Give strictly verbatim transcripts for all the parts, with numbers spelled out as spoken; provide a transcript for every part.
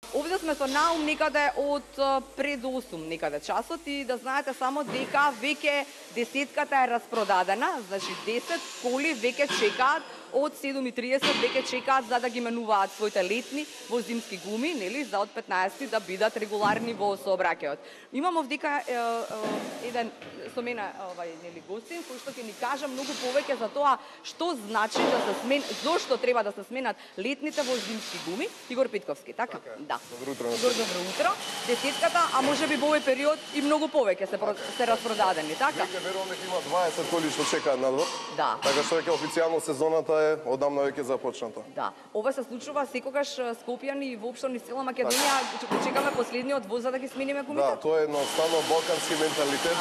Овде сме со наум некаде од пред осум некаде часот и да знаете само дека веќе десетката е распродадена, значи десет коли веќе чекаат од седум и триесет веќе чекаат за да ги менуваат своите летни во зимски гуми, нели, за од петнаесети да бидат регуларни во сообраќајот. Имам овдека е, е, еден со мене овај нели гостин кој што ќе ни кажа многу повеќе за тоа што значи да се смен, зошто треба да се сменат летните во зимски гуми. Игор Петковски, така? Така Да. Добро утро. Добро, добро утро. Десетката, а може би во овој период и многу повеќе се, се распродадени, така? Веќе верувам дека има дваесет коли што чекаат надвор. Да. Така што веќе официјално сезоната е одамна веќе започната. Да. Ова се случува секогаш Скопјани и воопшто низ цела Македонија чекаме последниот воз за да ги смениме гумите. Да, тоа е едноставно балкански менталитет.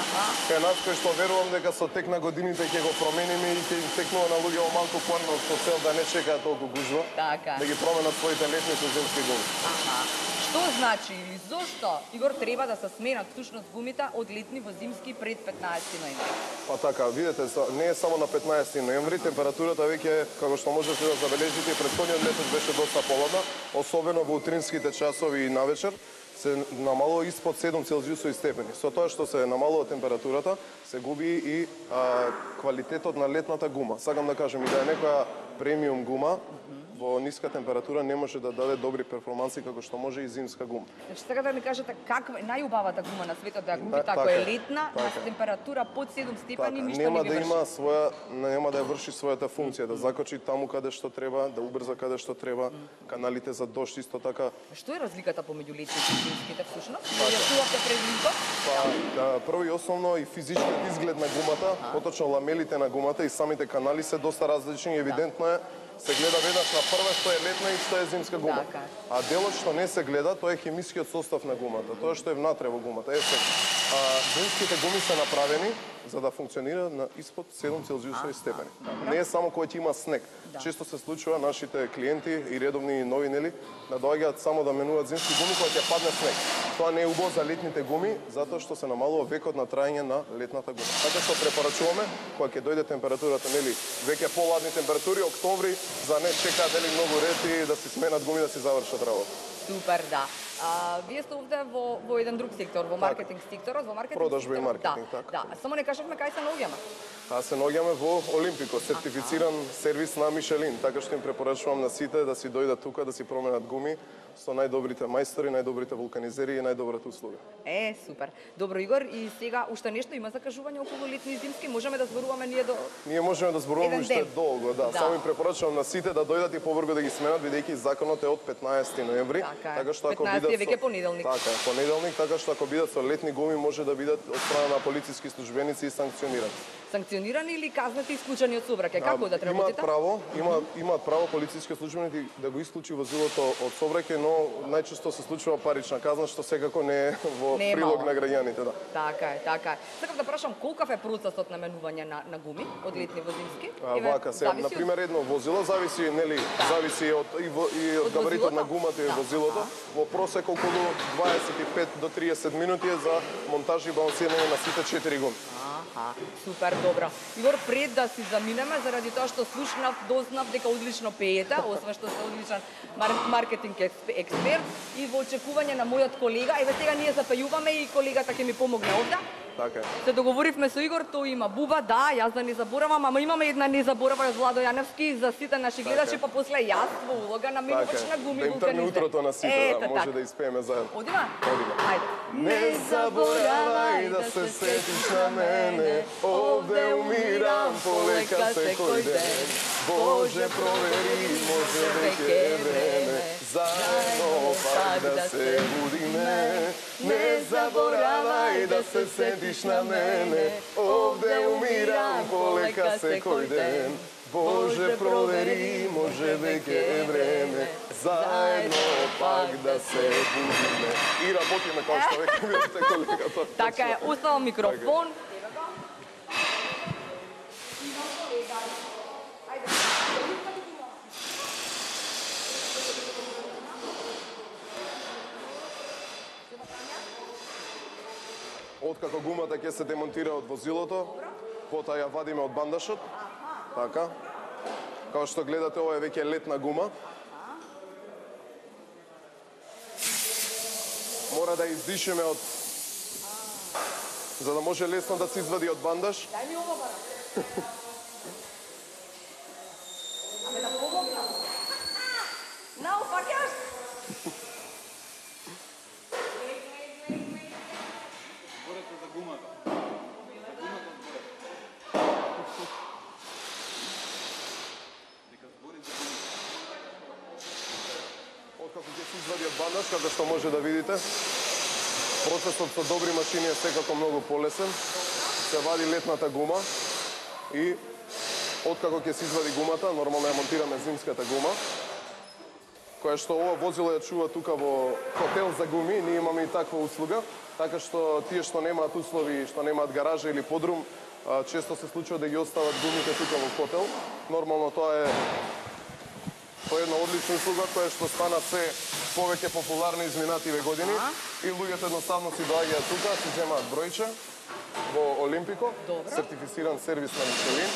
Кај нас кој што верувам дека со тек на годините ќе го промениме и ќе им текнува на луѓе малку порно со цел да не чекаат толку гужва. Така. Да ги променат своите летни со зимски гуми. Аха. Што значи или зошто Игор треба да се сменат всушност гумите од летни во зимски пред петнаесети ноември? Па така, видете, не е само на петнаесети ноември, температурата веќе, како што можете да забележите, претходниот месец беше доста поладна, особено во утринските часови и навечер се намалува испод седум целзиусови степени. Со тоа што се намалува температурата, се губи и а, квалитетот на летната гума. Сакам да кажам и да е некоја премиум гума, во ниска температура не може да даде добри перформанси како што може и зимска гума. Значи сега да ми кажете каква е најубавата гума на светот да ја купите Та, ако така, е летна така. на температура под седум степени, Така, ништо нема не ви да врши. има своја, нема да ја врши својата функција, да закочи таму каде што треба, да убрза каде што треба, каналите за дожд исто така. Што е разликата помеѓу летните и зимските всушност? Објаснувавте предвидот? Па, да, прво и основно и физичкиот изглед на гумата, поточно ламелите на гумата и самите канали се доста различни, евидентно е се гледа веднаш на прва што е летна и што е зимска гума. Така. А делот што не се гледа, тоа е хемискиот состав на гумата, тоа што е внатре во гумата. Е, се, а, зимските гуми се направени за да функционира на испод седум целзиусови степени. Не е само кога ќе има снег. Да. Често се случува нашите клиенти и редовни нови нели да доаѓаат само да менуваат зимски гуми кога ќе падне снег. Тоа не е убаво за летните гуми, затоа што се намалува векот на траење на летната гума. Така што препорачуваме кога ќе дојде температурата нели веќе поладни температури, октомври, за не чекаат нели многу рети да си сменат гуми да си завршат работа. Супер, да. А, вие сте овде во, во еден друг сектор, во маркетинг секторот, во маркетинг Продажба и секторот, маркетинг, да, така. Да, само не кажавме кај се наоѓаме. А се наоѓаме во Олимпико, сертифициран сервис на Мишелин, така што им препорачувам на сите да си дојдат тука, да си променат гуми со најдобрите мајстори, најдобрите вулканизери и најдобрата услуга. Е, супер. Добро, Игор, и сега уште нешто има закажување околу летни и зимски, можеме да зборуваме ние до Ние можеме да зборуваме Еден уште ден. долго, да. Да. Само им препорачувам на сите да дојдат и побрзо да ги сменат, бидејќи законот е од петнаесети ноември, Така е. така што ако петнаесети е бидат веќе понеделник. Така е, понеделник, така што ако бидат со летни гуми може да бидат од страна на полициски службеници и санкционирани. санкционирани или казнати и исклучени од сообраќај? Како да Имаат работите? право, имаат имаат право полициски службеници да го исклучи возилото од сообраќај, но најчесто се случува парична казна што секако не е во Не е прилог мала. на граѓаните, да. Така е, така е. Сакам да прашам колкав е процесот на менување на, на гуми од летни во зимски? А, Еве, вака, сега, зависи на од- пример, едно возило зависи, нели, зависи од и, во, и од Од габаритот на возилото? гумата и Да. возилото. Во просек околу дваесет и пет до триесет минути е за монтаж и балансирање на сите четири гуми. Аха, супер, добро. Игор, пред да си заминеме, заради тоа што слушнав, дознав дека одлично пеете, освен што сте одличен мар маркетинг експ експерт и во очекување на мојот колега, еве сега ние запејуваме и колегата ќе ми помогне овде. Така е. Се договоривме со Игор, тој има буба, да, јас да не заборавам, ама имаме една не заборавај од Владо Јаневски за сите наши гледачи, е. па после јас во улога на менувач Така на е. гуми Да им тргне вулканизер. утрото на сите, Ето да може така. да испееме заедно. Одима? Одиме. Ајде. Не заборавај да се сетиш на мене, овде умирам полека секој ден. Боже, провери, може веќе е време, заедно пак да се будиме. Не заборавај да се сетиш на мене, овде умирам полека секој ден. Боже, провери, може веќе е време, заедно пак да се будиме. И работиме како што веќе видите колегата. Така е, оставам микрофон. Откако гумата ќе се демонтира од возилото, потоа ја вадиме од бандашот. Така. Као што гледате, ова е веќе летна гума. мора да издишеме од за да може лесно да се извади од бандаж. Дај ми ова бара. Аме да помогнам. Нау, фаќаш? Борете за гумата. За гумата зборете. Дека збори за гумата. Откако ќе се извади од бандаж, како што може да видите, процесот со добри машини е секако многу полесен. Се вади летната гума и откако ќе се извади гумата, нормално ја монтираме зимската гума, која што ова возило ја чува тука во хотел за гуми, ние имаме и таква услуга, така што тие што немаат услови, што немаат гаража или подрум, често се случува да ги остават гумите тука во хотел. Нормално тоа е тоа е една одлична услуга која што стана се повеќе популарна изминативе години и луѓето едноставно си доаѓаат тука, си земаат бројче во Олимпико, Добро. сертифициран сервис на Мишелин,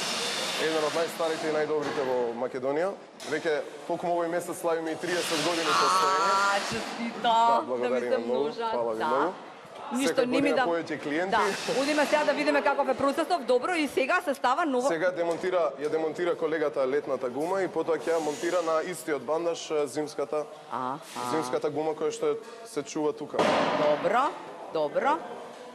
еден од најстарите и најдобрите во Македонија. Веќе токму овој месец славиме и триесет години постоење. А, честито, да ви благодариме се многу. множат. Фала ви Да. многу. Ништо Секоја ними година да повеќе клиенти. Да, одиме сега да видиме каков е процесот. Добро, и сега се става нова. Сега демонтира, ја демонтира колегата летната гума и потоа ќе ја монтира на истиот бандаж зимската А, зимската гума која што се чува тука. добро, добро.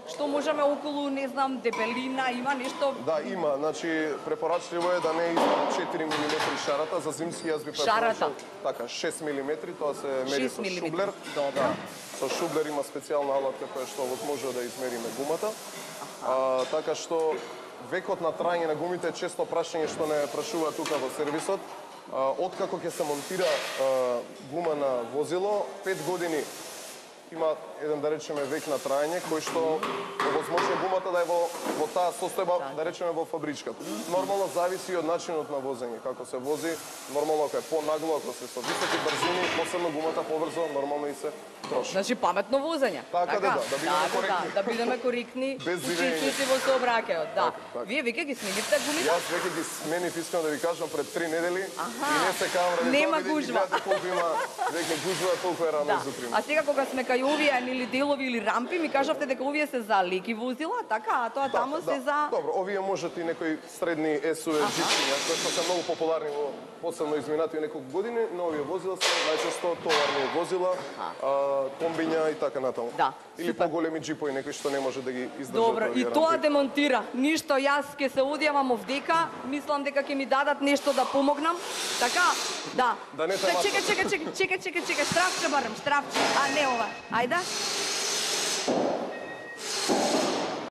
Што можеме околу, не знам, дебелина, има нешто? Да, има. Значи, препорачливо е да не е испод четири милиметри шарата. За зимски јас би Шарата? Така, шест милиметри, тоа се мери шест со милиметри. шублер. Добро. Да. Со шублер има специјална алатка која што може да измериме гумата. А, така што векот на траење на гумите е често прашање што не прашува тука во сервисот. А, откако ќе се монтира а, гума на возило, пет години има еден, да речеме, век на траење, кој што овозможува гумата да е во, во таа состојба, да речеме, во фабричката. Нормално зависи од начинот на возење. Како се вози, нормално ако е понагло, ако се со високи брзини, посебно гумата побрзо, нормално и се троши. Значи паметно возење. Така да, да, да бидеме така, коректни. Да, да бидеме коректни. Без зивење. учесници во сообраќајот, да. Така, така. Вие веќе ги сменивте гумите? Јас веќе ги сменив, искам да ви кажам, пред три недели Аха. и не се кавам ради Нема тоа, бидејќи гужва. гледате колку има веќе гужва, толку е рано Да. изутрин. А сега кога сме кај овие нели делови или рампи, ми кажавте дека овие се за леки возила, така, а тоа таму се за Добро, овие можат и некои средни ес ю ви джипиња, кои што се многу популарни во посебно изминати неколку години, но овие возила се најчесто товарни возила, а, комбиња и така натаму. Да, Или супер. поголеми джипови, некои што не може да ги издржат. Добро, овие и тоа рампи. демонтира. Ништо, јас ќе се одјавам овдека, мислам дека ќе ми дадат нешто да помогнам. Така, да. Да не те Чекај, мачкам. чекај, чекај, чекај, чекај, чекај, штрафче барам, штрафче. А не ова. Ајде.